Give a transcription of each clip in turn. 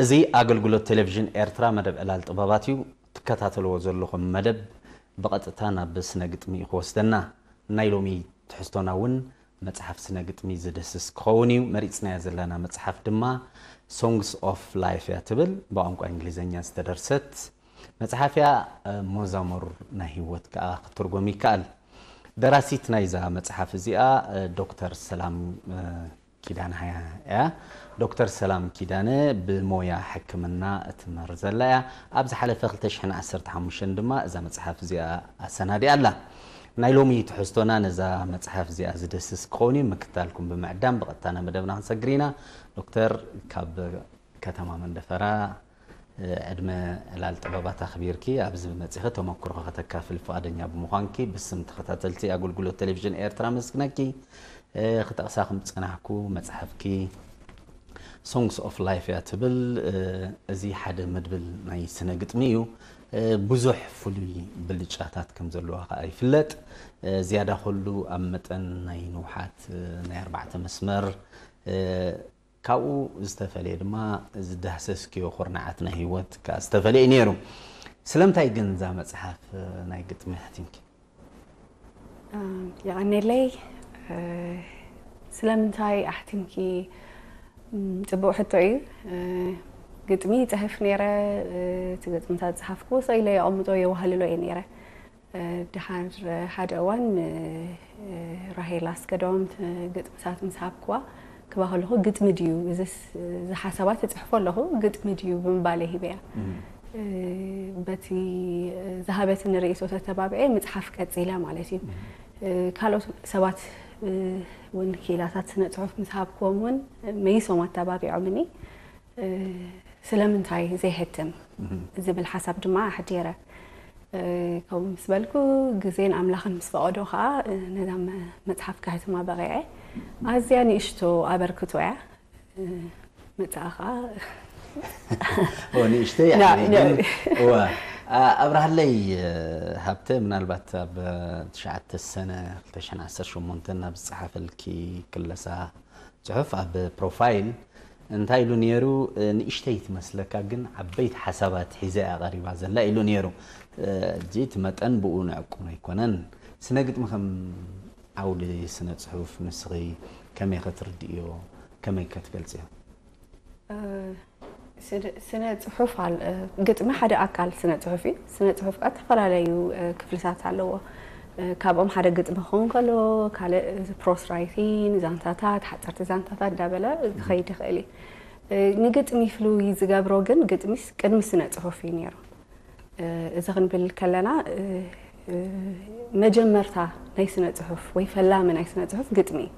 እዚ ኣገልግሎት ቴሌቪዥን ኤርትራ መደብ ዕላል ጥበባት እዩ። ትከታተልዎ ዘለኹም መደብ ብቐጥታ ናብ ስነ ግጥሚ እዩ ክወስደና። ናይ ሎሚ ትሕዝቶና እውን መጽሓፍ ስነ ግጥሚ ዝድህስስ ክኸውን እዩ። መሪጽናያ ዘለና መጽሓፍ ድማ Songs of Life እያ ትብል፣ ብቋንቋ እንግሊዝኛ ዝተደርሰት መጽሓፍ እያ። ሞዛሙር ናይ ህይወት ከኣ ክትርጎም ይከኣል። ደራሲት ናይዛ መጽሓፍ እዚኣ ዶክተር ሰላም ኪዳነ እያ። ዶክተር ሰላም ኪዳነ ብሞያ ሕክምና እትምህር ዘላ እያ። ኣብ ዝሓለፈ ክልተ ሽሕን ዓሰርተ ሓሙሽተን ድማ እዛ መጽሓፍ እዚኣ ኣሰናዲኣ ኣላ። ናይ ሎሚ ትሕዝቶና ነዛ መጽሓፍ እዚኣ ዝድህስስ ክኸውን እዩ። ምክትታልኩም ብምዕዳም ብቐጥታ ናብ መደብና ክንሰግር ኢና። ዶክተር፣ ካብ ከተማ መንደፈራ ዕድመ ዕላል ጥበባት ኣኽቢርኪ ኣብዚ መጺኺ ተመክሮኺ ከተካፍሊ ፍቓደኛ ብምዃንኪ ብስም ተኸታተልቲ ኣገልግሎት ቴሌቪዥን ኤርትራ ኣመስግነኪ። ክጠቕሳ ከም ዝጸናሕኩ መጽሓፍኪ Songs of Life እያ ትብል። እዚ ሓደ መድብል ናይ ስነ ግጥሚ እዩ። ብዙሕ ፍሉይ ብልጫታት ከም ዘለዋ ከኣ ይፍለጥ። ዝያዳ ከሉ ኣብ መጠን ናይ ንውሓት ናይ ኣርባዕተ መስመር ካብኡ ዝተፈለየ ድማ ዝዳህሰስክዮ ኩርናዓት ናይ ህይወት ከኣ ዝተፈለየ እዩ ነይሩ። ስለምንታይ ግን እዛ መጽሓፍ ናይ ግጥሚ ኣሕቲምኪ? የቐኔለይ። ስለምንታይ ኣሕቲምኪ? ጽቡቕ ሕቶ እዩ። ግጥሚ ይጽሕፍ ነይረ። እቲ ግጥምታት ዝጸሓፍኩ ሰኢለ የቐምጦ የዋህልሎ እየ ነይረ። ድሓር ሓደ እዋን ራሄል ኣስገዶም ግጥምታት ምስ ሃብክዋ ክባ ከለኹ ግጥሚ ድዩ እዚ ሓሳባት እፅሕፎ ኣለኹ ግጥሚ ድዩ ብምባለ ሂበያ። በቲ ዝሃበትኒ ርእይቶ ተተባብዐ ምፅሓፍ ቀፂለ ማለት እዩ። ካልኦት ሰባት እውን ክኢላታት ስነ ፅሑፍ ምስ ሃብክዎም እውን መይሶም ኣተባቢዖምኒ። ስለምንታይ ዘይሕትም ዝብል ሓሳብ ድማ ኣሕዲረ። ከምኡ ምስ በልኩ ግዜን ኣምላኽን ምስ ፈቐዶ ከዓ ነዛ መፅሓፍ ከሕትማ በቂዐ። ኣዝያ ንእሽቶ ኣበርክቶ እያ። መፅኣ ከዓ ንእሽተይ እዋ ኣብርሃለይ ሃብተ ምናልባት ኣብ ትሽዓተ ሰነ ክልተ ሽሕን ዓሰርተ ሸሞንተን ናብ ዝፀሓፈልኪ ክለሳ ፅሑፍ ኣብ ፕሮፋይል እንታይ ኢሉ ነይሩ? ንእሽተይ ትመስለካ ግን ዓበይቲ ሓሳባት ሒዛ እያ ቀሪባ ዘላ ኢሉ ነይሩ። ሕጂ እቲ መጠን ብኡ ንዕቁን ኣይኮነን። ስነ ግጥሚ ከም ዓውዲ ስነ ፅሑፍ ንስኺ ከመይ ከትርድእዮ? ከመይ ከትገልፅዮ? ስነ ፅሑፍ ግጥሚ ሓደ ኣካል ስነ ፅሑፍ እዩ። ስነ ፅሑፍ ከዓ ዝተፈላለዩ ክፍልታት ኣለዎ። ካብኦም ሓደ ግጥሚ ክኸውን ከሎ ካልእ ፕሮስ ራይቲን ዛንታታት ሓፀርቲ ዛንታታት እንዳበለ ክኸይድ ይኽእል እዩ። ንግጥሚ ፍሉይ ዝገብሮ ግን ግጥሚስ ቅድሚ ስነ ፅሑፍ እዩ ነይሩ። እዚ ክንብል ከለና መጀመርታ ናይ ስነ ፅሑፍ ወይ ፈላሚ ናይ ስነ ፅሑፍ ግጥሚ እዩ።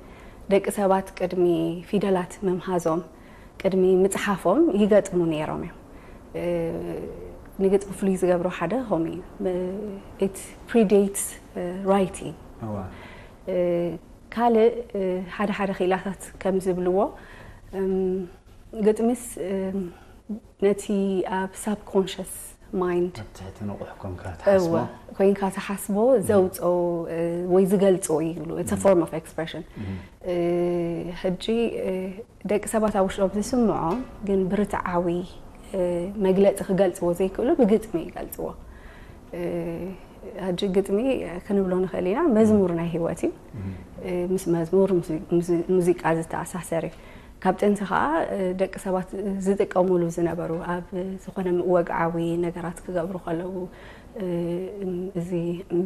ደቂ ሰባት ቅድሚ ፊደላት ምምሃዞም ቅድሚ ምፅሓፎም ይገጥሙ ነይሮም እዮም። ንግጥሚ ፍሉይ ዝገብሮ ሓደ ከምኡ እዩ። It predates writing። ካልእ ሓደ ሓደ ክኢላታት ከም ዝብልዎ ግጥሚስ ነቲ ኣብ ሳብኮንሽስ ማይንድ ኣብ ትሕቲ ንቑሕ ኮንካ ትሓስቦ ኮይንካ ትሓስቦ ዘውፅኦ ወይ ዝገልፆ ይብሉ። It's a form of expression። ሕጂ ደቂ ሰባት ኣብ ውሽጦም ዝስምዖም ግን ብርትዓዊ መግለፂ ክገልፅዎ ዘይክእሉ ብግጥሚ ይገልፅዎ። ሕጂ ግጥሚ ክንብሎ ንኽእል ኢና መዝሙር ናይ ህይወት እዩ። ምስ መዝሙር ሙዚቃ ዝተኣሳሰር እዩ። ካብ ጥንቲ ከዓ ደቂ ሰባት ዝጥቀሙሉ ዝነበሩ ኣብ ዝኾነ ወግዓዊ ነገራት ክገብሩ ከለዉ እዚ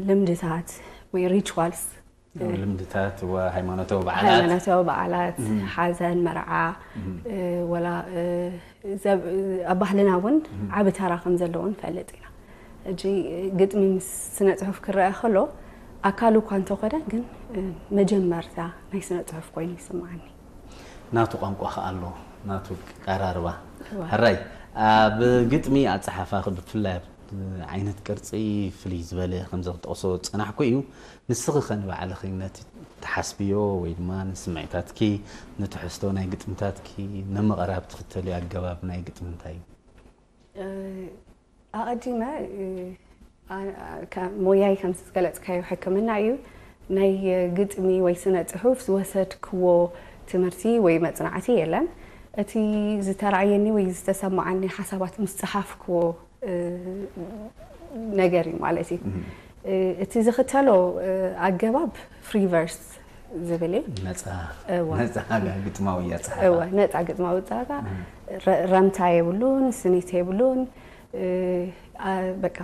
ልምድታት ወይ ሪቹዋልስ ልምድታት ሃይማኖታዊ በዓላት ሃይማኖታዊ በዓላት ሓዘን መርዓ ወላ ኣብ ባህልና እውን ዓቢ ተራ ከም ዘለዎ ንፈልጥ ኢና። ሕጂ ግጥሚ ምስ ስነ ፅሑፍ ክረአ ከሎ ኣካሉ እኳ እንተኾነ ግን መጀመርታ ናይ ስነ ፅሑፍ ኮይኑ ይስምዓኒ። ናቱ ቋንቋ ከኣ ኣሎ ናቱ ቀራርባ ሕራይ ኣብ ግጥሚ ኣፀሓፋ ብፍላይ ዓይነት ቅርፂ ፍልይ ዝበለ ከምዚ ክጠቕሶ ዝፀናሕኩ እዩ። ንስኺ ከ ንባዕልኺ ነቲ ትሓስብዮ ወይ ድማ ንስምዒታትኪ ንትሕዝቶ ናይ ግጥምታትኪ ንምቕራብ ትኽተልዮ ኣገባብ ናይ ግጥሚ እንታይ እዩ? ኣቐዲመ ሞያይ ከም ዝገለፅካዮ ሕክምና እዩ። ናይ ግጥሚ ወይ ስነ ፅሑፍ ዝወሰድክዎ ትምህርቲ ወይ መፅናዕቲ የለን። እቲ ዝተራእየኒ ወይ ዝተሰማዓኒ ሓሳባት ምስ ጸሓፍክዎ ነገር እዩ ማለት እዩ። እቲ ዝኽተሎ ኣገባብ ፍሪ ቨርስ ዝብል እዩ። ነፃ ግጥማዊ ኣፀሓሕፋ። ነፃ ግጥማዊ ኣፀሓሕፋ። ረምታ የብሉን፣ ስኒት የብሉን። በቃ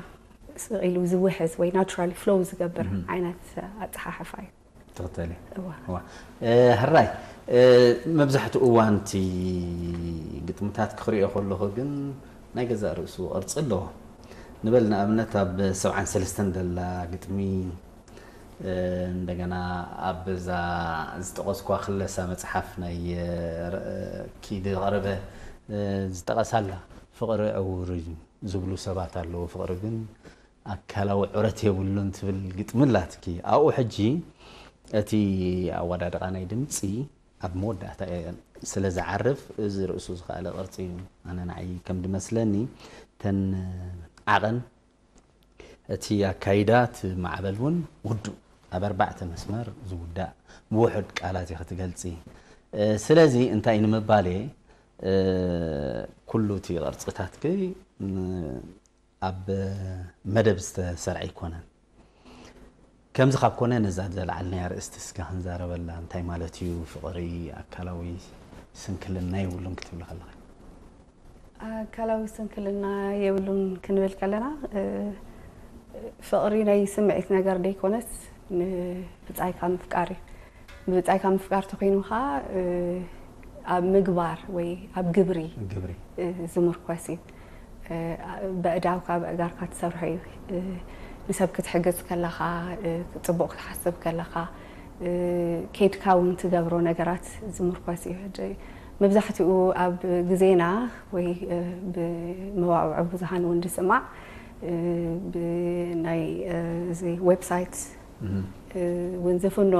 ስቕ ኢሉ ዝውሕዝ ወይ ናቹራሊ ፍሎው ዝገብር ዓይነት ኣፀሓሕፋ እዩ። ትኽተል እዋ። ሕራይ። መብዛሕትኡ እዋን እቲ ግጥምታት ክኽሪኦ ከለኹ ግን ናይ ገዛእ ርእሱ ቅርፂ ኣለዎ። ንበል ንኣብነት ኣብ ሰብዓን ሰለስተን ደላ ግጥሚ፣ እንደገና ኣብዛ ዝጠቐስኳ ክለሳ መፅሓፍ ናይ ኪድ ቀረበ ዝጠቐሳላ ፍቕሪ ዕውር እዩ ዝብሉ ሰባት ኣለዉ። ፍቕሪ ግን ኣካላዊ ዑረት የብሉን ትብል ግጥሚ ኣላትኪ። ኣብኡ ሕጂ እቲ ኣወዳድቓ ናይ ድምፂ ኣብ መወዳእታ ስለ ዝዓርፍ እዚ ርእሱ ዝኸኣለ ቅርፂ እዩ። ኣነ ንዓይ ከም ድመስለኒ ተን ዓቐን እቲ ኣካይዳ እቲ ማዕበል እውን ውዱእ ኣብ ኣርባዕተ መስመር ዝውዳእ ብውሑድ ቃላት ኢኺ ትገልፂ። ስለዚ እንታይ ንምባል እየ ኩሉ እቲ ቅርፅታትኪ ኣብ መደብ ዝተሰርዐ ኣይኮነን። ከምዚ ካብ ኮነ ነዛ ዘልዓልናያ ኣርእስቲ እስከ ክንዛረበላ። እንታይ ማለት እዩ ፍቕሪ? ኣካላዊ ስንክልና የብሉን ክትብሊ ከለኺ? ኣካላዊ ስንክልና የብሉን ክንብል ከለና ፍቕሪ ናይ ስምዒት ነገር ደይኮነስ ንብጻይካ ምፍቃር እዩ። ብብጻይካ ምፍቃር ተኾይኑ ኸዓ ኣብ ምግባር ወይ ኣብ ግብሪ ግብሪ ዝምርኮስ እዩ። በእዳውካ በእጋርካ ትሰርሖ እዩ። ንሰብ ክትሕግዝ ከለኻ፣ ጽቡቕ ክትሓስብ ከለኻ፣ ኬድካ እውን ትገብሮ ነገራት ዝምርኮስ እዩ። ሕጂ መብዛሕትኡ ኣብ ግዜና ወይ ብመዋዕውዒ ብዙሃን እውን ዝስማዕ ብናይ እዚ ዌብሳይት እውን ዝፍኖ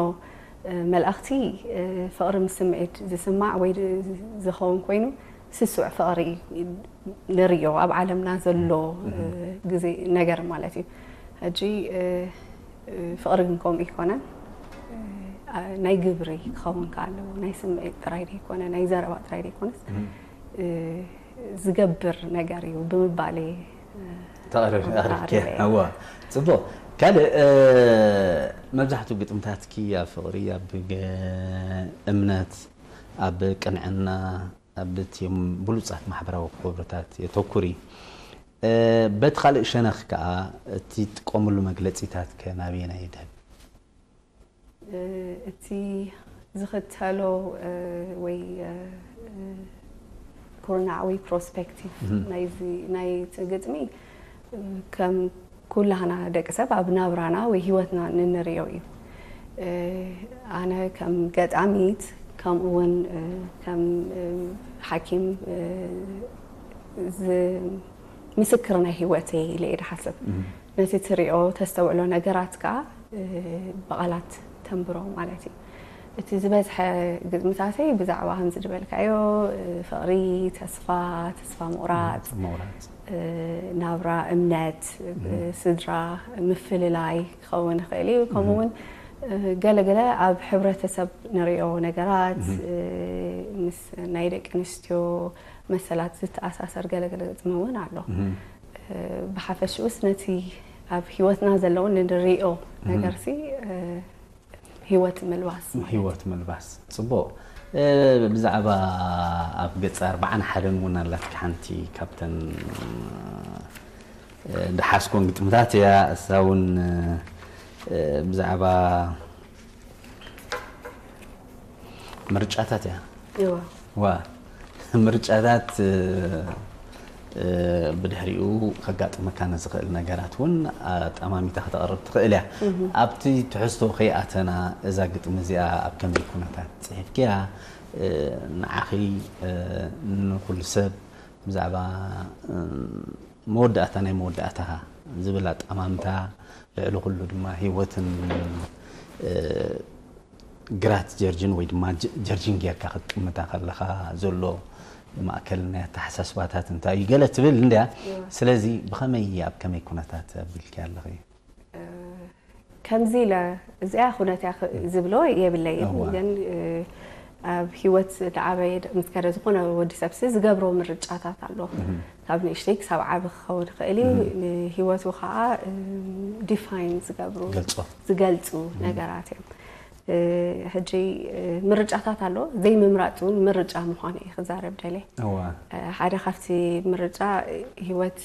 መልእኽቲ ፍቕሪ ምስ ስምዒት ዝስማዕ ወይ ዝኸውን ኮይኑ ስሱዕ ፍቕሪ ንርእዮ ኣብ ዓለምና ዘሎ ግዜ ነገር ማለት እዩ። ሕጂ ፍቕሪ ግን ከምኡ ይኮነን። ናይ ግብሪ ክኸውን ከ ኣለዎ። ናይ ስምዒት ጥራይ ዘይኮነ፣ ናይ ዘረባ ጥራይ ዘይኮነስ ዝገብር ነገር እዩ ብምባል ተቕርብ ኣቕሪብኪ። እዋ፣ ጽቡቕ። ካልእ መብዛሕትኡ ግጥምታትኪ ኣብ ፍቕሪ፣ ኣብ እምነት፣ ኣብ ቅንዕና፣ ኣብ እቲኦም ብሉጻት ማሕበራዊ ክብርታት የተኩሪ። በቲ ካልእ ሸነኽ ከኣ እቲ ትጥቀምሉ መግለጺታት ከ ናበየናይ ይድህብ? እቲ ዝኽተሎ ወይ ኩርናዕ ወይ ፕሮስፔክቲቭ ናይቲ ግጥሚ ከም ኩላህና ደቂ ሰብ ኣብ ናብራና ወይ ህይወትና ንንሪኦ እዩ። ኣነ ከም ገጣሚት ከምኡ እውን ከም ሓኪም ምስክር ናይ ህይወተይ ኢለ እየ ዝሓስብ። ነቲ ትሪኦ ተስተውዕሎ ነገራት ከዓ ብቓላት ተንብሮ ማለት እዩ። እቲ ዝበዝሐ ግጥምታተይ ብዛዕባ ከምዚ ዝበልካዮ ፍቕሪ፣ ተስፋ፣ ተስፋ ምቑራፅ፣ ናብራ፣ እምነት፣ ስድራ፣ ምፍልላይ ክኸውን ይኽእል እዩ። ከምኡ እውን ገለገለ ኣብ ሕብረተሰብ ንሪኦ ነገራት ምስ ናይ ደቂ ኣንስትዮ መሰላት ዝተኣሳሰር ገለገለ ግጥሚ እውን ኣሎ። ብሓፈሽኡስ ነቲ ኣብ ህይወትና ዘለውን ንሪኦ ነገርሲ ህይወት ምልባስ ማለት እዩ። ህይወት ምልባስ። ጽቡቕ። ብዛዕባ ኣብ ገጽ ኣርባዓን ሓደን እውን ኣላትኪ ሓንቲ ካብተን ዝሓዝኮን ግጥምታት እያ። እሳ እውን ብዛዕባ ምርጫታት እያ። እዋ። ዋ ምርጫታት ብድሕሪኡ ከጋጥመካ ንዝኽእል ነገራት እውን ኣጠማሚታ ከተቕርብ ትኽእል እያ። ኣብቲ ትሕዝቶ ከይኣተና እዛ ግጥሚ እዚኣ ኣብ ከመይ ኩነታት ጽሒፍክያ? ንዓኺ ንኹሉ ሰብ ብዛዕባ መወዳእታ ናይ መወዳእታ ዝብል ኣጠማምታ ልዕሊ ኩሉ ድማ ህይወትን ግራት ጀርጅን ወይ ድማ ጀርጅን ጌርካ ክትጥምታ ከለኻ ዘሎ ማእከል ናይ ኣተሓሳስባታት እንታይ እዩ ገለ ትብል እንድያ። ስለዚ ብኸመይ ኣብ ከመይ ኩነታት ኣቢልኪ ኣለኺ? ከምዚ ኢለ እዚኣ ኩነት እያ ዝብሎ የብለይን። ግን ኣብ ህይወት ዝዓበየ ምስ ከደ ዝኾነ ወዲ ሰብሲ ዝገብሮ ምርጫታት ኣሎ። ካብ ንእሽተይ ክሳብ ዓቢ ክኸውን ይኽእል እዩ። ንህይወቱ ከዓ ዲፋይን ዝገብሩ ገልጾ ዝገልጹ ነገራት እዮም። ሕጂ ምርጫታት ኣሎ። ዘይምምራጽ እውን ምርጫ ምዃኑ እየ ክዛረብ ደልየ። እዋ ሓደ ካብቲ ምርጫ ህይወት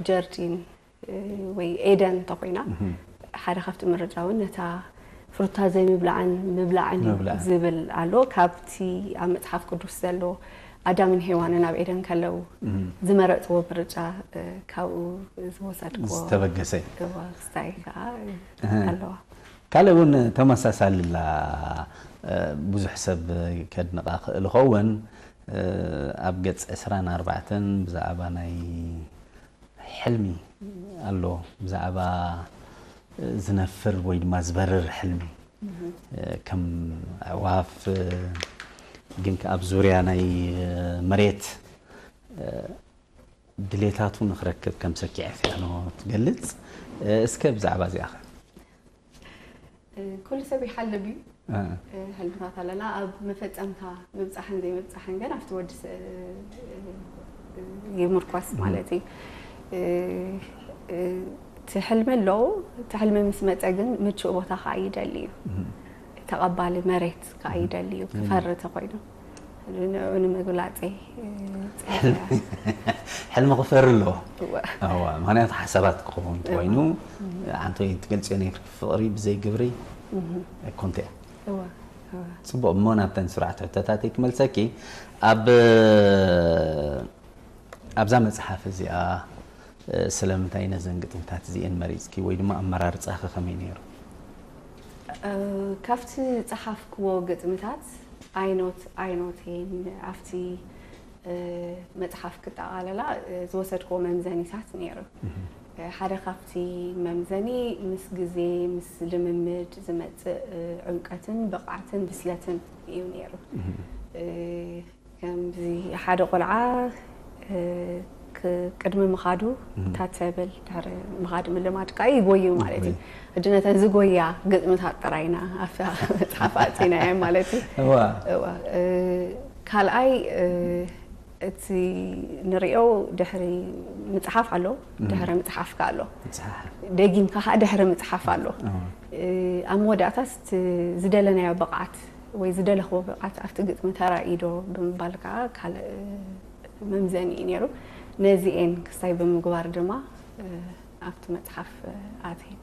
ጀርዲን ወይ ኤደን እንተኮይና ሓደ ካብቲ ምርጫ እውን ነታ ፍሩታ ዘይምብላዕን ምብላዕን እዩ ምብላዕን። ዝብል ኣሎ። ካብቲ ኣብ መጽሓፍ ቅዱስ ዘሎ ኣዳምን ሄዋንን ኣብ ኤደን ከለዉ ዝመረጽዎ ምርጫ ካብኡ ዝወሰድክዎ ዝተበገሰ እዩ። እዋ ክስታይ ከዓ ኣለዋ። ካልእ እውን ተመሳሳሊ ላ ብዙሕ ሰብ ከድንቓ ክእል ይኸውን። ኣብ ገጽ ዕስራን ኣርባዕተን ብዛዕባ ናይ ሕልሚ ኣሎ፣ ብዛዕባ ዝነፍር ወይ ድማ ዝበርር ሕልሚ ከም ኣዕዋፍ ግን ከኣ ኣብ ዙርያ ናይ መሬት ድሌታቱ ንክረክብ ከም ሰኪዐ ፊያኖ ትገልጽ። እስከ ብዛዕባ እዚኣ ኸ? ኩሉ ሰብ ይሓልም እዩ። ሕልምታት ኣለና ኣብ መፈጸምታ ምብጻሕን ዘይምብጻሕን ግን ኣብቲ ወዲ ይምርኮስ ማለት እዩ። እቲ ሕልሚ ኣለዉ። እቲ ሕልሚ ምስ መጸ ግን ምቹእ ቦታ ከዓ ይደሊ እዩ። ተቐባሊ መሬት ከዓ ይደሊ እዩ ክፈሪ ተኮይኑ ንኡ ንምግላጸይ ሕልሚ ክፈሪ ኣለዎ። እዋ ምክንያቱ ሓሳባት ክኸውን ኮይኑ ኣንተ ትገልጽዮ ነይርኪ ፍቕሪ ብዘይ ግብሪ ኣይኮንተ እያ። ጽቡቕ እሞ ናብተን ስራሕቲ ሕቶታተይ ክመልሰኪ ኣብ ኣብዛ መጽሓፍ እዚኣ ስለምንታይ ነዘን ግጥምታት እዚኤን መሪጽኪ ወይ ድማ ኣመራርጻኺ ከመይ ነይሩ? ካብቲ ዝጸሓፍክዎ ግጥምታት ኣይኖት ኣይኖት እየን ኣብቲ መጽሓፍ ክጠቓለላ ዝወሰድክዎ መምዘኒታት ነይሩ። ሓደ ካብቲ መምዘኒ ምስ ግዜ ምስ ልምምድ ዝመጽእ ዕምቀትን ብቕዓትን ብስለትን እዩ ነይሩ። ከምዚ ሓደ ቆልዓ ቅድሚ ምኻዱ ታተብል ድሕሪ ምኻድ ምልማድ ከዓ ይጎዩ ማለት እዩ። ሕጂ ነተን ዝጎያ ግጥምታት ጥራይና ኣብታ መፅሓፍ ኣፅኢናየን ማለት እዩ። ካልኣይ እቲ ንሪኦ ድሕሪ ምፅሓፍ ኣሎ፣ ድሕሪ ምፅሓፍ ከዓ ኣሎ። ደጊምካ ከዓ ድሕሪ ምፅሓፍ ኣሎ። ኣብ መወዳእታስ ዝደለናዮ ብቕዓት ወይ ዝደለኽዎ ብቕዓት ኣብቲ ግጥሚ ተራእዩ ዶ ብምባል ከዓ ካልእ መምዘኒ እዩ ነይሩ። ነዚኤን ክስታይ ብምግባር ድማ ኣብቲ መፅሓፍ ኣትየን።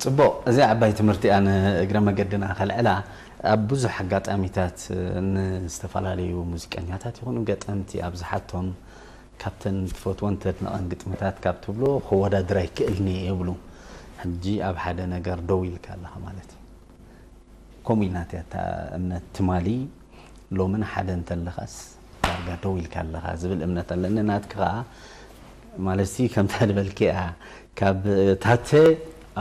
ፅቡቕ፣ እዚ ዓባይ ትምህርቲ እያ። ንእግረ መገድና ከልዕላ ኣብ ብዙሕ ኣጋጣሚታት ንዝተፈላለዩ ሙዚቀኛታት ይኹኑ ገጠምቲ ኣብ ዝሓቶም ካብተን ትፈትወን ተድንቐን ግጥምታት ካብ ትብሎ ክወዳድር ኣይክእልን እየ ይብሉ። ሕጂ ኣብ ሓደ ነገር ደው ኢልካ ኣለኻ ማለት እዩ። ከምኡ ኢልናትያ እታ እምነት ትማሊ ሎምን ሓደ እንተለኻስ ዳርጋ ደው ኢልካ ኣለኻ ዝብል እምነት ኣለኒ። ናትኪ ኸዓ ማለት ከምታ ዝበልክያ ካብ ታተ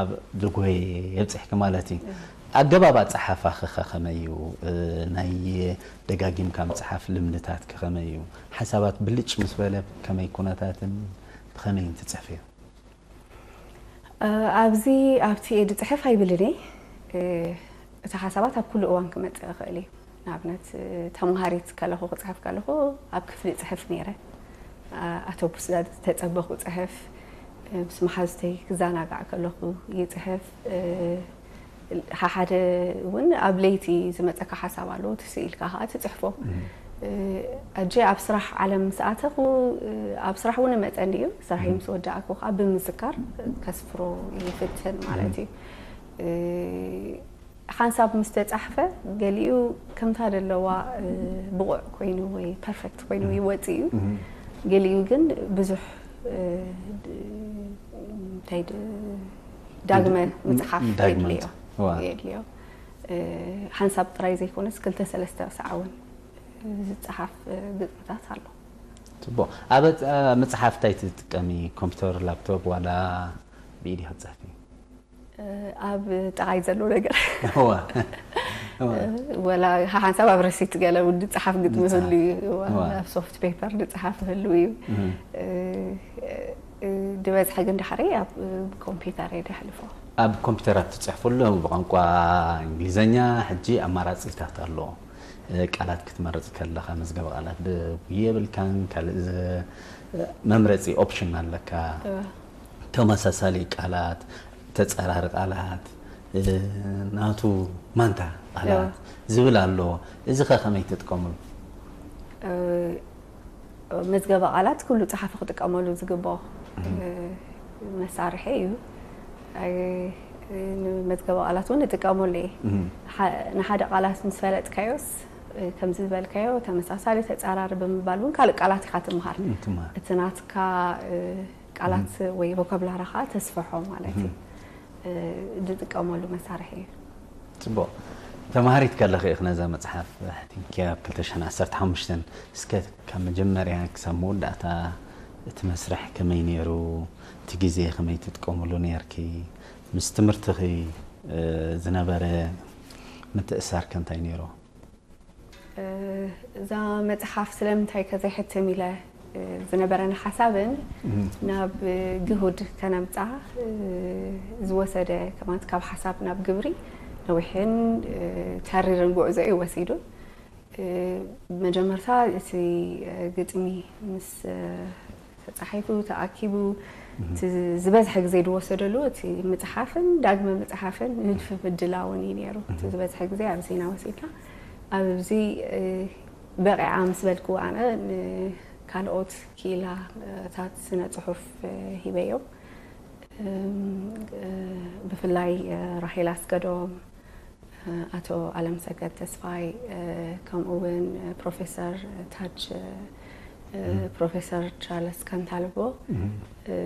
ኣብ ዝጎየ የብፅሕኪ ማለት እዩ። ኣገባብ ኣፀሓፋኺ ኸ ከመይ እዩ? ናይ ደጋጊምካ ምፅሓፍ ልምድታትኪ ከመይ እዩ? ሓሳባት ብልጭ ምስ በለ ከመይ ኩነታትን ብኸመይን ትፅሕፍዮ? ኣብዚ ኣብቲ እየ ዝፅሕፍ ኣይብልን እየ። እቲ ሓሳባት ኣብ ኩሉ እዋን ክመፅእ ይኽእል እዩ። ንኣብነት ተምሃሪት ከለኹ ክፅሕፍ ከለኹ ኣብ ክፍሊ እፅሕፍ ነይረ። ኣቶቡስ ተፀበኹ እፅሕፍ፣ ምስ መሓዙተይ ክዘናጋዕ ከለኹ ይፅሕፍ። ሓሓደ እውን ኣብ ለይቲ ዝመፀካ ሓሳብ ኣለዎ ትስኢልካ ከዓ ትፅሕፎ። ሕጂ ኣብ ስራሕ ዓለም ምስ ኣተኹ ኣብ ስራሕ እውን እመፀኒ እዩ። ስራሐይ ምስ ወዳእኩ ከዓ ብምዝካር ከስፍሮ ይፍትን ማለት እዩ። ሓንሳብ ምስ ተፃሕፈ ገሊኡ ከምታ ዘለዋ ብቑዕ ኮይኑ ወይ ፐርፌክት ኮይኑ ይወፅእ እዩ። ገሊኡ ግን ብዙሕ እንታይ ዳግመ ምፅሓፍ የድልዮ። ሓንሳብ ጥራይ ዘይኮነስ ክልተ ሰለስተ ሰዓ እውን ዝፀሓፍ ግጥምታት ኣሎ። ፅቡቕ። ኣብ ምፅሓፍ እንታይ ትጥቀሚ? ኮምፒተር፣ ላፕቶፕ ዋላ ብኢድ ክትፅሕፊ? ኣብ ጥቓይ ዘሎ ነገር ወላ ሓንሳብ ኣብ ረሲት ገለ ዝፀሓፍ ግጥሚ ህሉ እዩ። ኣብ ሶፍት ፔፐር ዝፀሓፍ ህሉ እዩ። ዝበዝሐ ግን ዳሕረይ ኣብ ኮምፒተር እየ ደሕልፎ። ኣብ ኮምፒተራት ትፅሕፍሉ ብቋንቋ እንግሊዘኛ ሕጂ ኣማራፂታት ኣሎ። እ፣ ቃላት ክትመርጽ ከለኻ መዝገበ ቃላት ብ-፣ የብልካን፣ ካልእ ዝ-፣ መምረጺ ኦፕሽን ኣለካ። እወ። ተመሳሳሊ ቃላት፣ ተጻራሪ ቃላት፣ እ፣ ናቱ ማንታ ቃላት እወ። ዝብል ኣሎ። እዚ ኸ ከመይ ትጥቀምሉ? እ፣ መዝገበ ቃላት ኩሉ ጸሓፊ ክጥቀመሉ ዝግብኦ፣ እ፣ መሳርሒ እዩ። ኣይ፣ ንመዝገበ ቃላት እውን እጥቀመሉ እየ። እም። ሓ-፣ ንሓደ ቃላት ምስ ፈለጥካዮስ፣ እ፣ ከምዚ ዝበልካዮ ተመሳሳሊ ተጻራሪ ብምባል እውን ካልእ ቃላት ኢኻ ትምሃር። እም፣ ትምሃር። እቲ ናትካ፣ እ፣ ቃላት ወይ ቮካብላሪ ኸዓ ተስፍሖ ማለት እዩ። እ፣ ዝጥቀመሉ መሳርሒ እዩ። ጽቡቕ። ተማሃሪት ከለኺ ኢኺ ነዛ መጽሓፍ ሓቲምክያ ኣብ ክልተ ሽሕን ዓሰርተ ሓሙሽተን። እስከ ካብ መጀመርያ ክሳብ መወዳእታ እቲ መስርሕ ከመይ ነይሩ? እቲ ግዜ ከመይ ትጥቀምሉ ነይርኪ? ምስ ትምህርትኺ፣ እ፣ ዝነበረ ምትእስሳር ከ እንታይ ነይሩ? እ፣ እዛ መጽሓፍ ስለምንታይ ከ ዘይሕትም ኢለ፣ እ፣ ዝነበረኒ ሓሳብን እም። ናብ ግሁድ ከነምጻ፣ እ፣ ዝወሰደ ከማት ካብ ሓሳብ ናብ ግብሪ ነዊሕን፣ እ፣ ተሪርን ጉዕዞ እዩ ወሲዱ። እ፣ መጀመርታ እቲ፣ እ፣ ግጥሚ ምስ፣ እ፣ ተጻሒፉ፣ ተኣኪቡ፣ እቲ ዝበዝሐ ግዜ ዝወሰደሉ እቲ ምጽሓፍን ዳግመ ምጽሓፍን ንድፊ ምድላውን እዩ ነይሩ። እቲ ዝበዝሐ ግዜ ኣብዚ ኢና ወሲድና። ኣብዚ፣ እ፣ በቂዓ ምስ በልኩ ኣነ ንካልኦት ክኢላታት ስነ ጽሑፍ፣ እ፣ ሂበዮም። እም፣ እ፣ ብፍላይ፣ እ፣ ራሄል ኣስገዶም፣ እ፣ ኣቶ ኣለምሰገድ ተስፋይ፣ እ፣ ከምኡ እውን፣ እ፣ ፕሮፌሰር ታጅ፣ እ፣ ፕሮፌሰር ቻርለስ ካንታልቦ፣ እ፣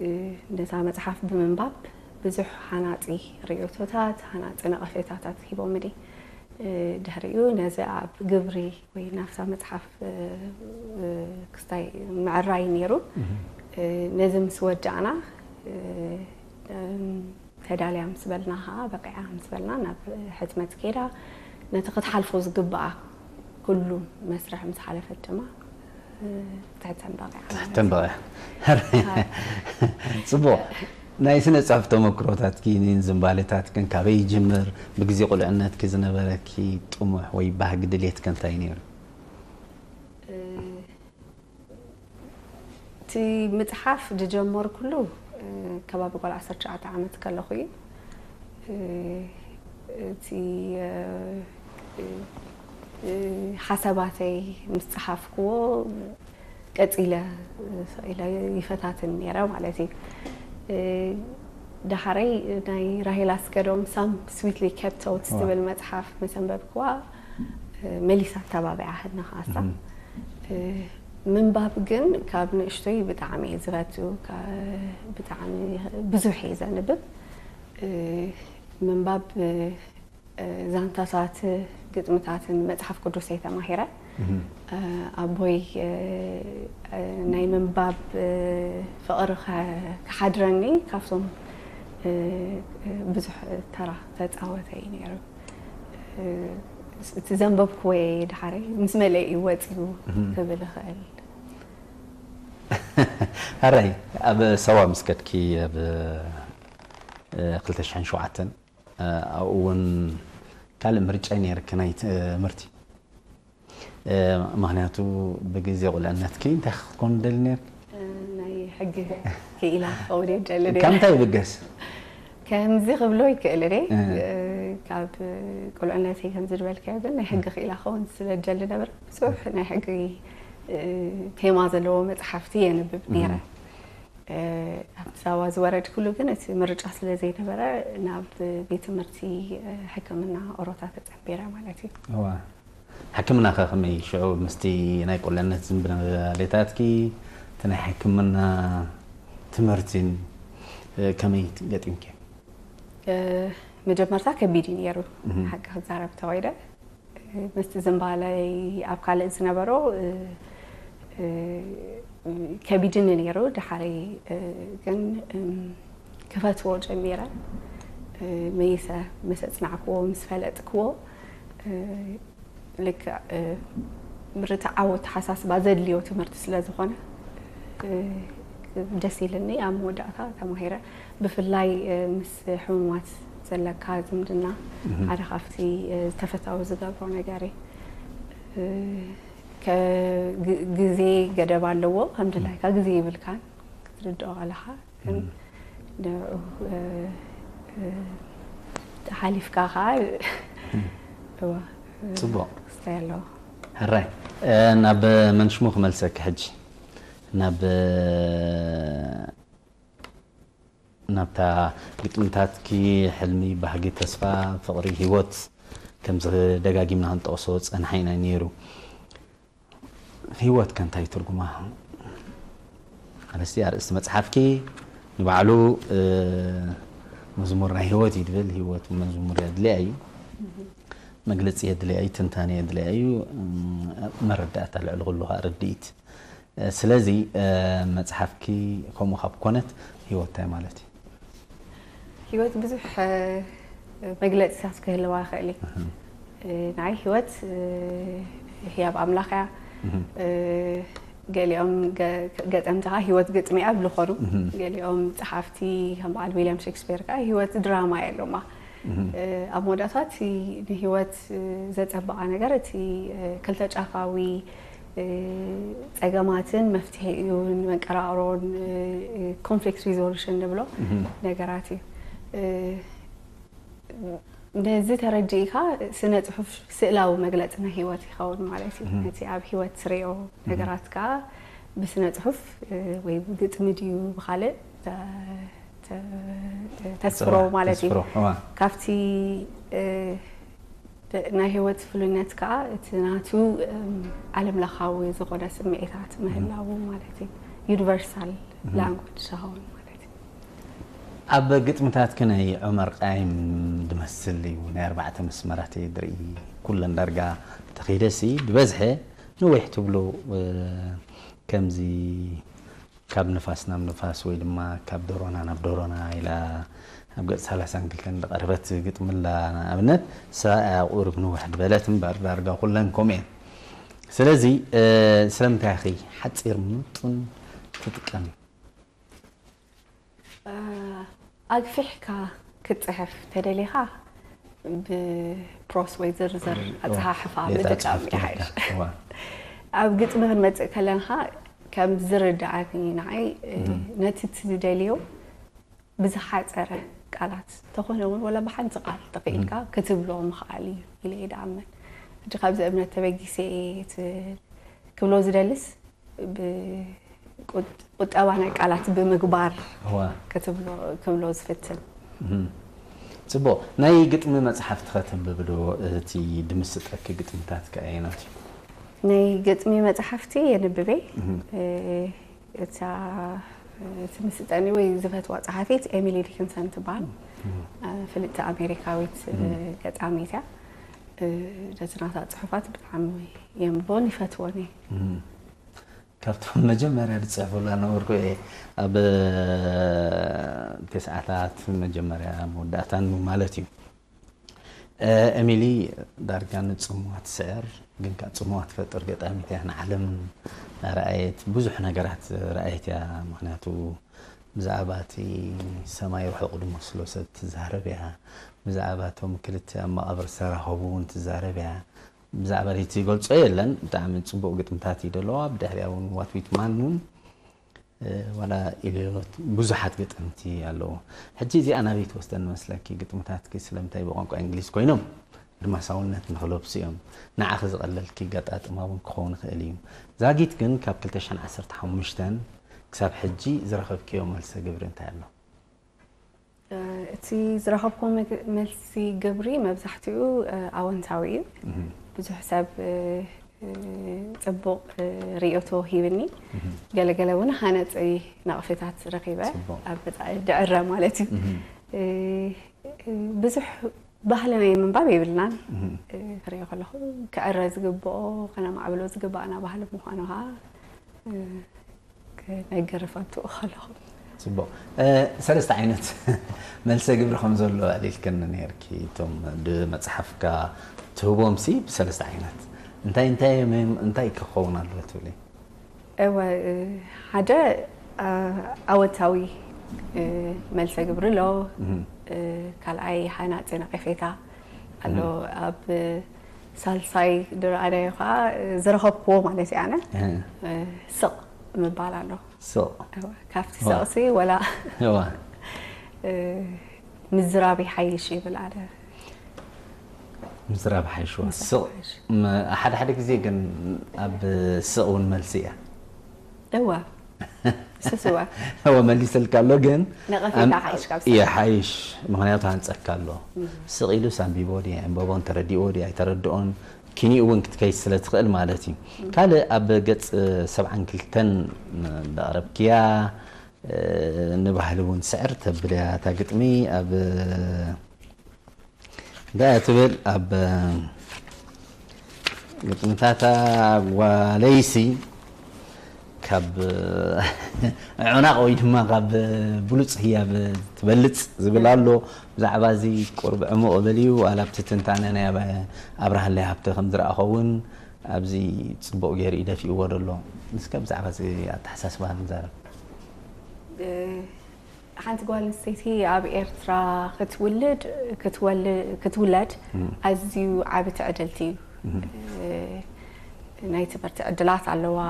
እ፣ ነታ መጽሓፍ ብምንባብ ብዙሕ ሃናጺ ርእይቶታት፣ ሃናጺ ነቐፌታታት ሂቦምኒ። እ፣ ድሕሪኡ ነዚ ኣብ ግብሪ ወይ ናብታ መጽሓፍ፣ እ፣ እ፣ ክስታይ ምዕራይ ነይሩ። እ፣ ነዚ ምስ ወዳእና፣ እ፣ እም፣ ተዳልያ ምስ በልና ኸዓ፣ በቂዓ ምስ በልና ናብ ሕትመት ከይዳ፣ ነቲ ክትሓልፎ ዝግብኣ ኩሉ መስርሕ ምስ ሓለፈት ድማ፣ እ፣ ትሕተም በቂዓ ማለት ትሕተም እዩ። በቂዓ። ጽቡቕ። ናይ ስነ ጽሑፍ ተመክሮታትኪን ዝንባሌታትክን ካበይ ይጅምር? ብግዜ ቁልዕነትኪ ዝነበረኪ ጥሙሕ ወይ ባህጊ ድሌትከ እንታይ ነይሩ? እ፣ እቲ ምጽሓፍ ዝጀመርኩሉ፣ እ፣ ከባቢ ጓል ዓሰርተ ትሽዓተ ዓመት ከለኹ እዩ። እ፣ እቲ፣ እ፣ እ፣ እ፣ ሓሳባተይ ምስ ጸሓፍክዎ ቀጺለ፣ እ፣ ስቕ ኢለ ይፈታትን ነይረ ማለት እዩ። እ፣ ዳሕረይ ናይ ራሄል ኣስገዶም ሳም ስዊትሊ ኬፕት ቶትስ ዋ። ትብል መጽሓፍ ምስ ኣንበብክዋ፣ እ፣ መሊሳ ኣተባቢዓትኒ ኸኣሳ። እም። እ፣ ምንባብ ግን ካብ ንእሽቶይ ብጣዕሚ እየ ዝፈቱ፣ ካ-፣ ብጣዕሚ ብዙሕ እየ ዘንብብ። እ፣ ምንባብ፣ እ፣ ዛንታታት፣ ግጥምታትን መጽሓፍ ቅዱስ እየ ተማሂረ። እም። እ፣ ኣቦይ፣ እ፣ እ፣ ናይ ምንባብ፣ እ፣ ፍቕሪ ከ-፣ ክሓድረኒ ካብቶም፣ እ፣ እ፣ ብዙሕ ተራ ተጻወተ እዩ ነይሩ። እ፣ እቲ ዘንበብክዎ እየ ድሓረይ ምስ መለይ እዩ ወጺኡ እም። ክብል እኽእል። ሕራይ፣ ኣብ ሳዋ ምስ ከድኪ ኣብ፣ እ፣ ክልተ ሽሕን ሸውዓተን፣ እ፣ ኣብኡ እውን ካልእ ምርጫ ነይርኪ ናይ ትምህርቲ። እ፣ ምኽንያቱ ብግዜ ቁልዕነትኪ እንታይ ክትኮን ደሊ ነይርኪ? እ፣ ናይ ሕጊ ክኢላ ክኸውን እየ ደሊ ነይረ። ካብ እንታይ ይብገስ? ከምዚ ክብሎ ይክእል እየ። እ። እ፣ ካብ ቁልዕነተይ ከምዚ ዝበልካዮ ግን ናይ ሕጊ ክኢላ ክኸውን ስለ ደሊ ነበረ። ብዙሕ ናይ ሕጊ፣ እ፣ ቴማ ዘለዎ መጽሓፍቲ የንብብ ነይረ። እም። እ፣ ኣብቲ ሳዋ ዝወረድኩሉ ግን እቲ ምርጫ ስለ ዘይነበረ ናብ ቤት ትምህርቲ፣ እ፣ ሕክምና ኦሮታ ተጸንቢረ ማለት እዩ። እዋ። ሕክምና ከ ከመይ ሽዑ ምስቲ ናይ ቁልዕነት ዝንባሌታትኪ፣ እቲ ናይ ሕክምና ትምህርቲን፣ እ፣ ከመይ ገጢምኪ? እ፣ መጀመርታ ከቢድ እዩ ነይሩ። እም። ሓቂ ክዛረብ ተወይደ፣ እ፣ ምስቲ ዝንባለይ ኣብ ካልእ ዝነበሮ፣ እ፣ እ፣ ከቢድኒ ነይሩ። ድሓረይ፣ እ፣ ግን፣ እም፣ ክፈትዎ ጀሚረ። እ፣ መይሰ ምስ ኣጽናዕክዎ፣ ምስ ፈለጥክዎ፣ እ፣ ልክዕ፣ እ፣ ርትዓዊ ኣተሓሳስባ ዘድልዮ ትምህርቲ ስለ ዝኾነ፣ እ፣ ደስ ኢልኒ። ኣብ መወዳእታ ተማሂረ። ብፍላይ፣ እ፣ ምስ ሕሙማት ዘለካ ዝምድና፣ እም። ሓደ ካብቲ፣ እ፣ ተፈታዊ ዝገብሮ ነገር እዩ። ግዜ ገደብ ኣለዎ። ከም ድላይካ ግዜ ይብልካን ክትርድኦ ኣለኻ። ግን ንዕኡ ሓሊፍካ ከዓ ፅቡቅ ክስታይ ኣለዎ። ሕራይ ናብ መንሽሙ ክመልሰኪ ሕጂ ናብ ናብታ ግጥምታትኪ ሕልሚ፣ ባህጊ፣ ተስፋ፣ ፍቕሪ፣ ህይወት ከምዚ ደጋጊምና ክንጠቕሶ ዝጸናሕና እዩ ነይሩ። ህይወት ከ እንታይ ትርጉማ? ኣነስቲ ኣርእስቲ መጽሓፍኪ ንባዕሉ መዝሙር ናይ ህይወት እዩ ድብል። ህይወት መዝሙር የድልያ እዩ፣ መግለጺ የድልያ እዩ፣ ትንታነ የድልያ እዩ፣ መረዳእታ ልዕሊ ኩሉ ከዓ ርድኢት ስለዚ መፅሓፍኪ ከምኡ ካብ ኮነት ህይወት እንታይ ማለት እዩ? ህይወት ብዙሕ መግለፂታት ክህልዋ ይኽእል እዩ። ንዓይ ህይወት ህያብ ኣምላኽ እያ። ገሊኦም ገጠምቲ ከዓ ህይወት ግጥሚ እያ ብልኾኑ፣ ገሊኦም ፀሓፍቲ ከም በዓል ዊልያም ሸክስፔር ከዓ ህይወት ድራማ እያ ኢሎማ። ኣብ መወዳእታ እቲ ንህይወት ዘጸብቓ ነገር እቲ ክልተ ጫፋዊ ጸገማትን መፍትሒኡን መንቀራቕሮን conflict resolution ንብሎ ነገራት እዩ። ነዚ ተረዲእካ ስነ ጽሑፍ ስእላዊ መግለጺ ናይ ህይወት ይኸውን ማለት እዩ። ነቲ ኣብ ህይወት ትሪኦ ነገራት ከዓ ብስነ ጽሑፍ ወይ ብግጥሚ ድዩ ብኻልእ ተስፍሮ ማለት እዩ። ካብቲ ናይ ህይወት ፍሉይነት ከዓ እቲ ናቱ ዓለም ለኻዊ ዝኾነ ስምዒታት ምህላዉ ማለት እዩ። ዩኒቨርሳል ላንጉጅ ዝኸውን ማለት እዩ። ኣብ ግጥምታትኪ ናይ ዑመር ቃይም ዝመስል እዩ ናይ ኣርባዕተ መስመራት እየ ዝርኢ። ኩለን ዳርጋ ተኺደሲ ብበዝሐ ንዊሕ ትብሉ ከምዚ ካብ ንፋስ ናብ ንፋስ ወይ ድማ ካብ ደሮና ናብ ደሮና ኢላ ኣብ ገጽ ሰላሳን ክልተን ዝቐረበት ግጥሚ ኣላ ንኣብነት። ሰብኣያ ቁሩብ ንውሕ ዝበለት እምበር ዳርጋ ኩለን ከምኡ እየን። ስለዚ ስለምንታይ ኢኺ ሓጺር ምጡን ትጥቀሚ? ኣግፊሕካ ክትፅሕፍ ተደሊኻ ብፕሮስ ወይ ዝርዝር ኣፀሓሕፋ ምጥቃም ይሓይሽ። ኣብ ግጥሚ ክንመፅእ ከለንኻ ከም ዝርድኣኒ ንዓይ ነቲ ትደልዮ ብዝሓፀረ ቃላት ተኾነ እውን ወላ ብሓንቲ ቃል ተኽኢልካ ክትብሎ ምኽኣል እዩ ኢለ እየ ድኣምን። ሕጂ ካብዚ እምነት ተበጊሰ እየ ክብሎ ዝደልስ ቁጠባ ናይ ቃላት ብምግባር ክትብሎ ክብሎ ዝፍትን። ጽቡቕ። ናይ ግጥሚ መጽሓፍቲ ከተንብቢ ዶ? እቲ ድምስጠኪ ግጥምታት ከ ኣየናት እዩ? ናይ ግጥሚ መጽሓፍቲ የንብቤ። እታ ትምስጠኒ ወይ ዝፈትዋ ጸሓፊት ኤሚሊ ዲክንሰን ትበሃል። ፍልጥቲ ኣሜሪካዊት ገጣሚት እያ። ነዚ ናታ ጽሑፋት ብጣዕሚ የንብቦን ይፈትዎን እየ። ካብቶም መጀመርያ ዝፅሕፉላ ነበርኩ እየ ኣብ ተስዓታት መጀመርያ መወዳእታን ማለት እዩ። ኤሚሊ ዳርጋ ንፅምዋ ትስዕር ግን ከዓ ፅምዋ ትፈጥር ገጣሚት እያ። ንዓለም ኣርኣየት ብዙሕ ነገራት ረኣየት እያ። ምክንያቱ ብዛዕባ እቲ ሰማይ ርሑቕ ዝመስሎ ሰብ ትዛረብ እያ። ብዛዕባ እቶም ክልተ ኣብ መቓብር ዝተራኸቡ እውን ትዛረብ እያ። ብዛዕባ እቲ ገልጾ የለን። ብጣዕሚ ጽቡቕ ግጥምታት እዩ ዘለዋ። ብድሕሪያ እውን ዋትዊት ማን እውን ዋላ ኢልዮት ብዙሓት ግጥምቲ ኣለዎ። ሕጂ እዚኣ ናበይ ትወስደን መስለኪ? ግጥምታትኪ ስለምንታይ ብቋንቋ እንግሊዝ ኮይኖም ኣድማሳውነት ንኽለብሱ እዮም። ንዓኺ ዝቐለልኪ ገጣጥማ እውን ክኸውን ይኽእል እዩ። ዛጊት ግን ካብ ክልተ ሽሕን ዓሰርተ ሓሙሽተን ክሳብ ሕጂ ዝረኸብክዮ መልሰ ግብሪ እንታይ ኣሎ? እቲ ዝረኸብኩ መልሲ ግብሪ መብዛሕትኡ ኣወንታዊ እዩ። ብዙሕ ሰብ ፅቡቕ ርእይቶ ሂብኒ፣ ገለገለ እውን ሃነፂ ነቕፌታት ረኺበ። ኣብ ድዕረ ማለት እዩ። ብዙሕ ባህሊ ናይ ምንባብ የብልናን። ክሪኦ ከለኹ ክዕረ ዝግብኦ ከነማዕብሎ ዝግባእና ባህሊ ምዃኑ ከዓ ክነግር እፈቱ ከለኹ። ፅቡቕ። ሰለስተ ዓይነት መልሰ ግብሪ ከም ዘሎ ኣዕሊልክኒ ነይርኪ። እቶም ብመፅሓፍካ ትህቦምሲ ብሰለስተ ዓይነት እንታይ እንታይ እንታይ ክኸውን ኣለዎ ትብሊ? እወ፣ ሓደ ኣወንታዊ መልሰ ግብሪ ኣሎ። ካልኣይ ሃናፂ ነቐፌታ ኣሎ። ኣብ ሳልሳይ ድረኣናዮ ከዓ ዝረኸብክዎ ማለት እዩ። ኣነ ስቕ ምባል ኣሎ። ስቕ ካብቲ ስቕሲ ወላ ምዝራብ ይሓይሽ ይብል ኣነ። ምዝራብ ሓይሽዋ ስቕ። ሓደ ሓደ ግዜ ግን ኣብ ስቕ እውን መልሲ እያ። እዋ ስስዋ እወ መሊሰልካ ኣሎ ግን ነቐፌታ ሓይሽ ካብ ስቕ። ይሓይሽ። ምክንያቱ ሃንፀካ ኣሎ። ስቕ ኢሉስ ኣንቢቦ ድዩ ኣንበቦን ተረዲእዎ ድዩ ኣይተረድኦን ኪኒኡ እውን ክትከይድ ስለ ትኽእል ማለት እዩ። ካልእ ኣብ ገፅ ሰብዓን ክልተን ዘቕረብክያ ንባህሊ እውን ስዕር ተብል እያ እታ ግጥሚ ኣብ እንታይ እያ ትብል ኣብ ግጥምታታ ጓለይሲ ካብ ዕናቕ ወይ ድማ ካብ ብሉፅ ህያብ ትበልፅ ዝብል ኣሎ። ብዛዕባ እዚ ቁርብ ዕሙቕ እብል እዩ። ዋላ ኣብቲ ትንታነ ናይ ኣብርሃለይ ሃብተ ከም ዝረኣኾ እውን ኣብዚ ፅቡቕ ገይሩ እዩ ደፊእዎ ዘሎ። እስከ ብዛዕባ እዚ ኣተሓሳስባ ንዛረብ። ሓንቲ ጓል ኣንስተይቲ ኣብ ኤርትራ ክትውልድ ክትወል- ክትውለድ ኣዝዩ ዓቢ ትዕድልቲ እዩ። ናይ ትምህርቲ ዕድላት ኣለዋ።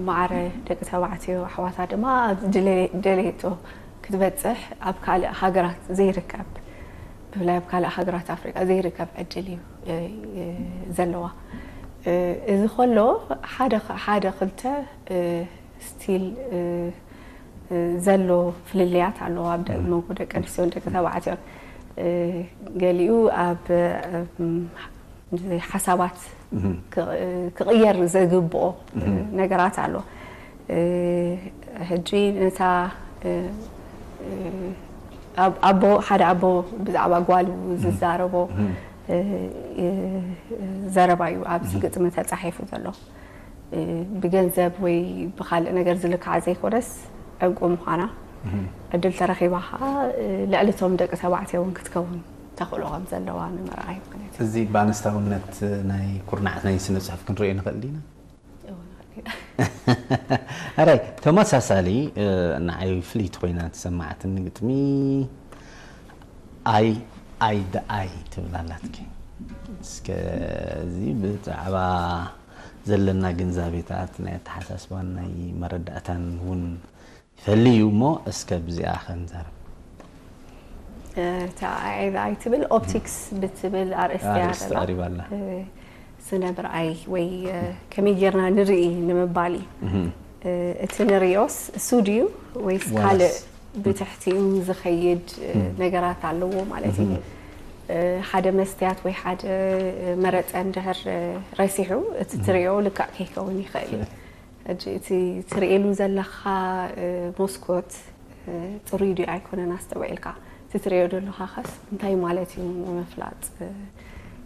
ማዕረ ደቂ ተባዕትዮ ኣሕዋታ ድማ ኣብ ድለ- ደለየቶ ክትበጽሕ ኣብ ካልእ ሃገራት ዘይርከብ ብፍላይ ኣብ ካልእ ሃገራት ኣፍሪቃ ዘይርከብ ዕድል እዩ ዘለዋ። እዚ ከሎ ሓደ ሓደ ክልተ ስቲል ዘሎ ፍልልያት ኣለዎ ኣብ ደ- መንጎ ደቂ ኣንስትዮን ደቂ ተባዕትዮን። ገሊኡ ኣብ ሓሳባት ክቕየር ዘግብኦ ነገራት ኣሎ። ሕጂ ነታ ኣብ- ኣቦ ሓደ ኣቦ ብዛዕባ ጓሉ ዝዛረቦ ዘረባ እዩ ኣብዚ ግጥሚ ተፃሒፉ ዘሎ። ብገንዘብ ወይ ብካልእ ነገር ዝልካዓ ዘይኮነስ ዕንቁ ምዃና ዕድል ተረኺባ ከዓ ልዕሊ እቶም ደቂ ተባዕትዮ እውን ክትከውን ተኽእሎ ከም ዘለዋ ንምርኣይ ማለት እዩ። እዚ ብኣንስታውነት ናይ ኩርናዓት ናይ ስነ ፅሑፍ ክንሪኦ ንኽእል ዲና? ኣራይ ተመሳሳሊ ንዓይ ፍልይቲ ኮይና ትሰማዓትኒ ግጥሚ ኣይ ኣይ ደኣይ ትብል ኣላትኪ። እስከ እዚ ብዛዕባ ዘለና ግንዛቤታት ናይ ኣተሓሳስባን ናይ መረዳእታን እውን ይፈሊ እዩ እሞ እስከ ብዚኣ ከንዛረብ። እታ ኣይ ኣይ ትብል ኦፕቲክስ ብትብል ኣርእስቲ እያ ኣርእስቲ ዘላ። ቀሪባ ኣላ። ስነ ምርኣይ ወይ ከመይ ጌርና ንርኢ ንምባል እዩ። እቲ ንሪኦስ ሱድ እዩ ወይስ ዋላስ? ካልእ ብትሕቲኡ ዝኸይድ ነገራት ኣለዎ ማለት እዩ። ሓደ መስትያት ወይ ሓደ መረፀ እንድሕር ረሲሑ እቲ ትሪኦ ልክዕ ከይከውን ይኽእል እዩ። ሕጂ እቲ ትርእየሉ ዘለኻ ሞስኮት ፅሩይ ድዩ ኣይኮነን ኣስተውዒልካ እቲ ትርእዮ ዘለኻ ኸስ እንታይ ማለት እዩ ንምፍላጥ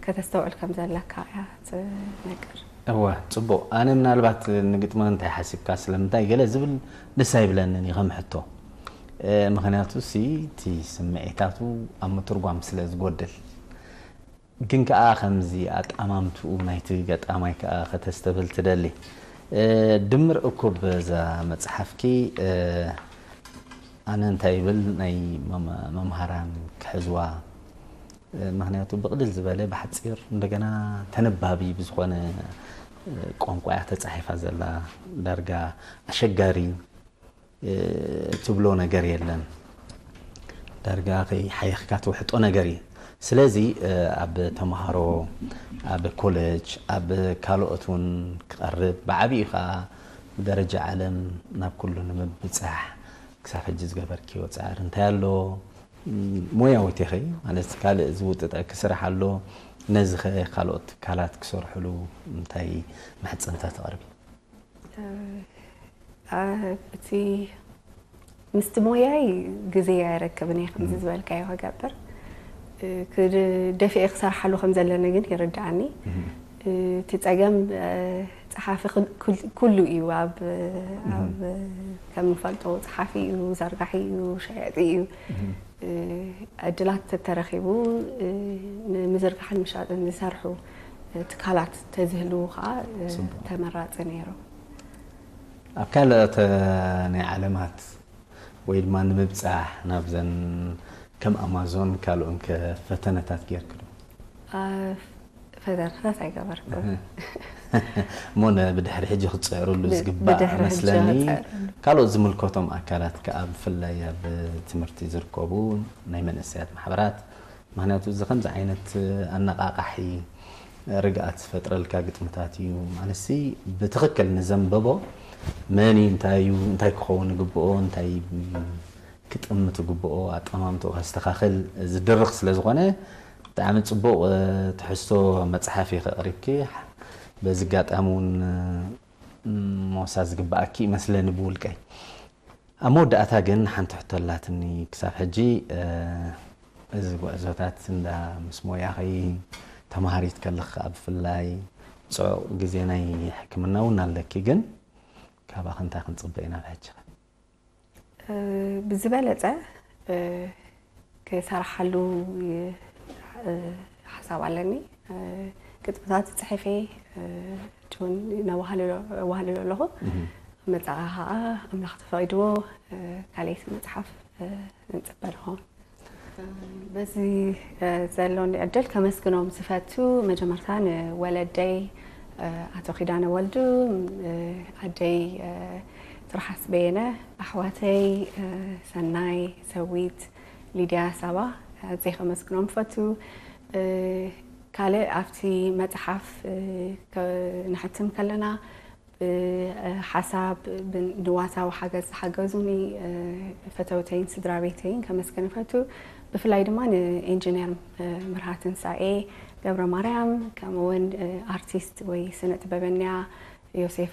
ከተስተውዕል ከም ዘለካ እያ ትነግር። እወ ፅቡቕ። ኣነ ምናልባት ንግጥሚ እንታይ ሓሲብካ ስለምንታይ ገለ ዝብል ደስ ኣይብለንን እዩ ከም ሕቶ። ምክንያቱ ሲ እቲ ስምዒታቱ ኣብ ምትርጓም ስለ ዝጎድል። ግን ከኣ ከምዚ ኣጣማምትኡ ናይቲ ገጣማይ ከኣ ከተስተብህል ትደሊ። ድምር እኩብ እዛ መጽሓፍኪ ኣነ እንታይ ይብል ናይ መምሃራን ክሕዝዋ ምክንያቱ ብቕልል ዝበለ ብሓጺር እንደገና ተነባቢ ብዝኾነ ቋንቋ እያ ተጻሒፋ ዘላ ዳርጋ ኣሸጋሪ ትብሎ ነገር የለን። ዳርጋ ከይሓየኽካ ትውሕጦ ነገር እዩ። ስለዚ ኣብ ተምሃሮ፣ ኣብ ኮለጅ፣ ኣብ ካልኦት እውን ክቐርብ ብዓብዩ ከዓ ብደረጃ ዓለም ናብ ኩሉ ንምብፃሕ ክሳብ ሕጂ ዝገበርክዮ ፃዕሪ እንታይ ኣሎ? ሞያዊት ኢኺ ማለት ካልእ ዝውጥጠኪ ስራሕ ኣሎ? ነዚ ኸ ካልኦት ትካላት ክሰርሕሉ እንታይ ምሕፅንታ ተቕርቢ? እቲ ምስቲ ሞያይ ግዜ ኣይረክብን እየ ከምዚ ዝበልካዮ ክገብር ደፊኤ ክሰርሓሉ ከም ዘለኒ ግን ይርድኣኒ። እቲ ፀገም ፀሓፊ ኩሉ እዩ ኣብ ከም ንፈልጦ ፀሓፊ እዩ ዘርጋሒ እዩ ሸያጢ እዩ። ዕድላት ተተረኺቡ ንምዝርጋሕን ምሻጥን ዝሰርሑ ትካላት ተዝህልዉ ከዓ ተመራፂ ነይሩ። ኣብ ካልኦት ናይ ዓለማት ወይ ድማ ንምብፃሕ ናብዘን ከም ኣማዞን ካልኦን ከ ፈተነታት ጌርክ ዶ? ፈተናታት ኣይገበርኩ። እሞ ነ ብድሕሪ ሕጂ ክትፅዕርሉ ዝግባእ ብድሕሪ ሕጂ መስለኒ። ክፅዕርሉ። ካልኦት ዝምልከቶም ኣካላት ከኣ ብፍላይ ኣብ ትምህርቲ ዝርከቡ ናይ መንእሰያት ማሕበራት፣ ምክንያቱ እዚ ከምዚ ዓይነት ኣነቃቃሒ ርግኣት ዝፈጥረልካ ግጥምታት እዩ። ማለትሲ ብትኽክል ንዘንበቦ መን እዩ፣ እንታይ እዩ፣ እንታይ ክኸውን ይግብኦ፣ እንታይ ክጥምት ይግብኦ፣ ኣጠማምትኡ ከስተኻኽል ዝድርኽ ስለ ዝኾነ ብጣዕሚ ፅቡቕ ትሕዝቶ መፅሓፍ እዩ ከቕሪብኪ። በዚ ኣጋጣሚ እውን ሞሳ ዝግበኣኪ ይመስለኒ ብውልቀይ። ኣብ መወዳእታ ግን ሓንቲ ሕቶ ኣላትኒ። ክሳብ ሕጂ እዚ ጉዕዞታት እንዳ ምስ ሞያኺ ተምሃሪት ከለኺ ከዓ ብፍላይ ፅዑቕ ግዜ ናይ ሕክምና እውን ኣለኪ። ግን ካባኺ እንታይ ክንፅበ ኢና ኣብ ሕጂ? ብዝበለፀ ክሰርሓሉ ሓሳብ ኣለኒ። ግጥምታት ዝፅሕፍ እየ፣ ውን ነዋህልሎ ኣለኹ። መፃኻ ከዓ ኣምላኽ ተፈቒድዎ ካልኣይቲ መፅሓፍ ንፅበ ንኸውን። በዚ ዘሎኒ ዕድል ከመስግኖም ዝፈቱ መጀመርታ ንወለደይ ኣቶ ኪዳነ ወልዱ፣ ኣደይ ትርሓስ በየነ፣ ኣሕዋተይ ሰናይ፣ ሰዊት፣ ሊድያ፣ ሳባ ኣዝየ ከመስግኖም ፈቱ። ካልእ ኣብቲ መፅሓፍ ከ- ንሕትም ከለና ብሓሳብ ንዋታዊ ሓገዝ ዝሓገዙኒ ፈተውተይን ስድራ ቤተይን ከመስግን ፈቱ። ብፍላይ ድማ ንኢንጂነር ምርሃ ትንሳኤ ገብረ ማርያም፣ ከምኡ እውን ኣርቲስት ወይ ስነ ጥበበኛ ዮሴፍ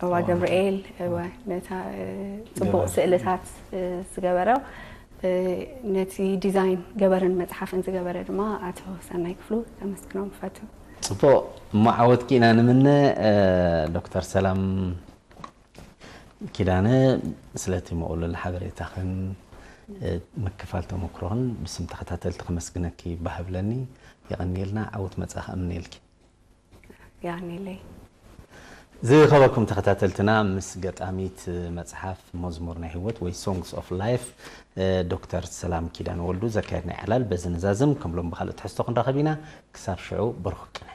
እባ ገብርኤል፣ ነታ ፅቡቕ ስእልታት ዝገበረ፣ ነቲ ዲዛይን ገበርን መፅሓፍን ዝገበረ ድማ ኣቶ ሰናይ ክፍሉ ከመስግኖም ፈቱ። ፅቡቕ፣ እሞ ዓወትኪ ኢና ንምነ። ዶክተር ሰላም ኪዳነ፣ ስለቲ ምቕሉል ሓበሬታኽን ምክፋል ተመክሮኽን ብስም ተኸታተልቲ ከመስግነኪ ባህ ብለኒ። የቐንየልና። ዓወት መጻእኺ እምነየልኪ። ያኔለይ። ዝኸበርኩም ተኸታተልትና፣ ምስ ገጣሚት መጽሓፍ መዝሙር ናይ ህይወት ወይ Songs of Life ዶክተር ሰላም ኪዳነ ወልዱ ዘካየድና ዕላል በዚ ንዛዝም። ከም ሎም ብኻልእ ትሕዝቶ ክንራኸብ ኢና። ክሳብ ሽዑ ብሩኽ ቅነ።